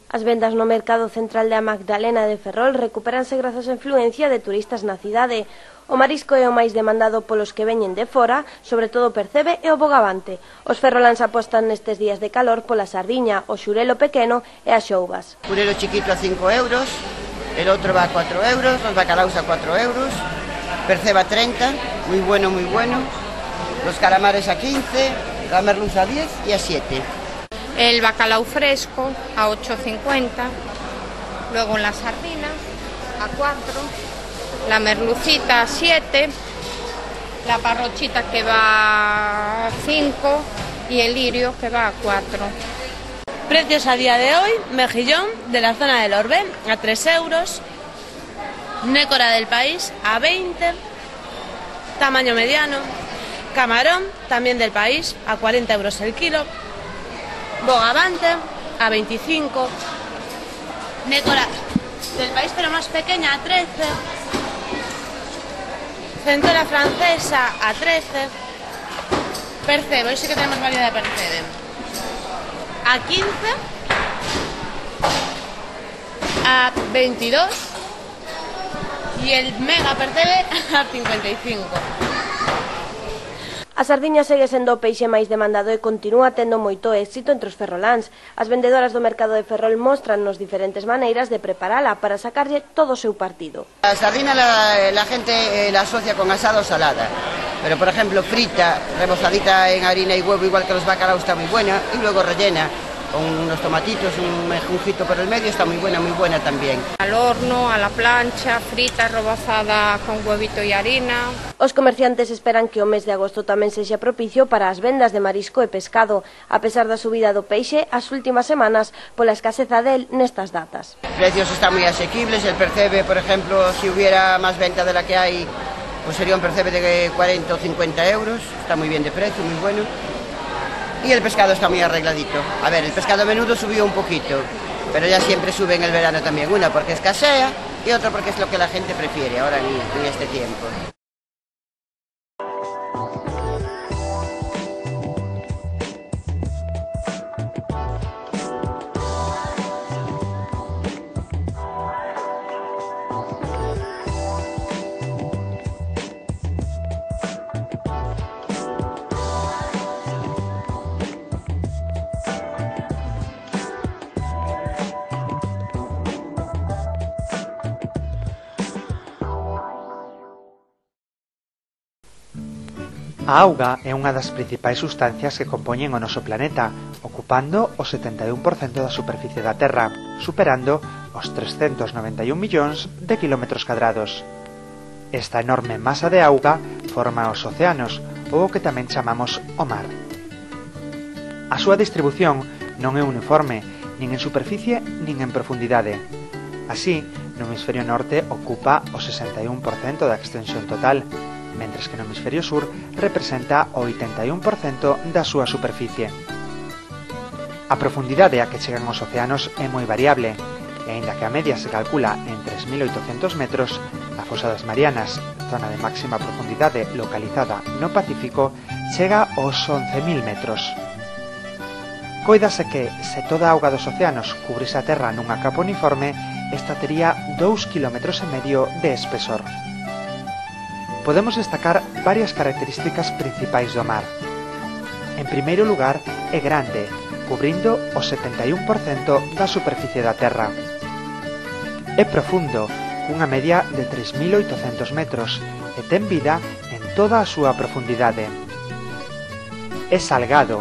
As vendas no mercado central da Magdalena de Ferrol recupéranse grazas á influencia de turistas na cidade. O marisco é o máis demandado polos que veñen de fora, sobre todo o percebe e o bogavante. Os ferroláns apostan nestes días de calor pola sardiña, o xurelo pequeno e as xouvas. Xurelo chiquito a 5 euros, el outro va a 4 euros, los bacalaos a 4 euros, percebe a 30, muy bueno, los calamares a 15, la merluza a 10 y a 7. El bacalao fresco a 8,50, luego la sardina a 4, la merlucita a 7, la parrochita que va a 5 y el lirio que va a 4. Precios a día de hoy: mejillón de la zona del Orbe a 3 euros, nécora del país a 20, tamaño mediano, camarón también del país a 40 euros el kilo, bogavante a 25, nécora del país pero más pequeña a 13, centora francesa a 13, percebe, hoy sí que tenemos variedad de percebe, a 15, a 22 y el mega percebe a 55. A sardiña segue sendo o peixe máis demandado e continúa tendo moito éxito entre os ferroláns. As vendedoras do mercado de Ferrol mostran-nos diferentes maneiras de preparala para sacarlle todo o seu partido. La sardina la gente la asocia con asada o salada, pero por ejemplo frita, rebozadita en harina y huevo, igual que los bacalaos, está muy buena, y luego rellena con unos tomatitos, un mejuncito por el medio, está muy buena también. Al horno, a la plancha, frita, rebozada con huevito y harina. Os comerciantes esperan que o mes de agosto tamén sexa propicio para as vendas de marisco e pescado, a pesar da subida do peixe as últimas semanas pola escaseza del nestas datas. Los precios están muy asequibles, el percebe, por ejemplo, si hubiera más venta de la que hay, pues sería un percebe de 40 o 50 euros, está muy bien de precio, muy bueno. Y el pescado está muy arregladito. A ver, el pescado menudo subió un poquito, pero ya siempre sube en el verano también. Una porque escasea y otra porque es lo que la gente prefiere ahora en este tiempo. A auga é unha das principais sustancias que compoñen o noso planeta, ocupando o 71% da superficie da Terra, superando os 391 millóns de kilómetros cadrados. Esta enorme masa de auga forma os océanos, ou o que tamén chamamos o mar. A súa distribución non é uniforme, nin en superficie nin en profundidade. Así, no hemisferio norte ocupa o 61% da extensión total, mentres que no hemisferio sur representa o 81% da súa superficie. A profundidade a que chegan os océanos é moi variable, e aínda que a media se calcula en 3.800 metros, a fosa das Marianas, zona de máxima profundidade localizada no Pacífico, chega aos 11.000 metros. Coídase que, se toda a auga dos océanos cubrise a Terra nunha capa uniforme, esta tería 2,5 km de espesor. Podemos destacar varias características principais do mar. En primeiro lugar, é grande, cubrindo o 71% da superficie da Terra. É profundo, cunha media de 3.800 metros, e ten vida en toda a súa profundidade. É salgado,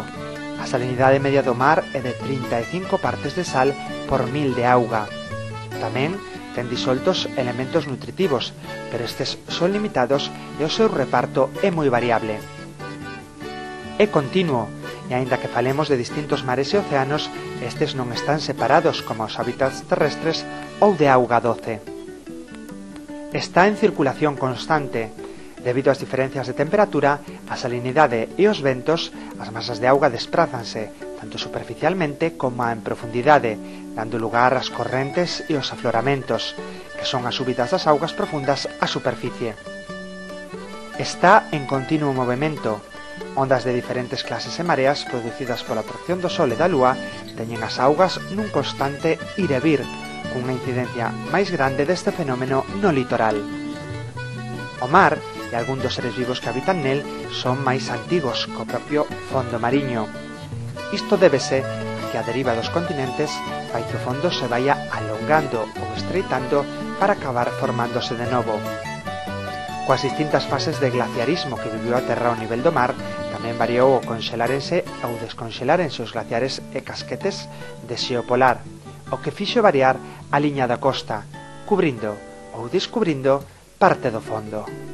a salinidade media do mar é de 35 partes de sal por 1000 de auga. Tamén ten disoltos elementos nutritivos, pero estes son limitados e o seu reparto é moi variable. É continuo, e aínda que falemos de distintos mares e océanos, estes non están separados como os hábitats terrestres ou de auga doce. Está en circulación constante. Debido ás diferencias de temperatura, a salinidade e os ventos, as masas de auga desprázanse, tanto superficialmente como en profundidade, dando lugar ás correntes e os afloramentos, que son as subidas das augas profundas á superficie. Está en continuo movimento, Ondas de diferentes clases e mareas producidas pola tracción do Sol e da Lúa teñen as augas nun constante ir e vir, cunha incidencia máis grande deste fenómeno no litoral. O mar e algún dos seres vivos que habitan nel son máis antigos co propio fondo mariño. Isto débese a que a deriva dos continentes fai que o fondo se vaya alongando ou estreitando para acabar formándose de novo. Coas distintas fases de glaciarismo que viviu a Terra ao nivel do mar, tamén variou o conxelárense ou desconxelárense os glaciares e casquetes de xeo polar, o que fixo variar a liña da costa, cubrindo ou descubrindo parte do fondo.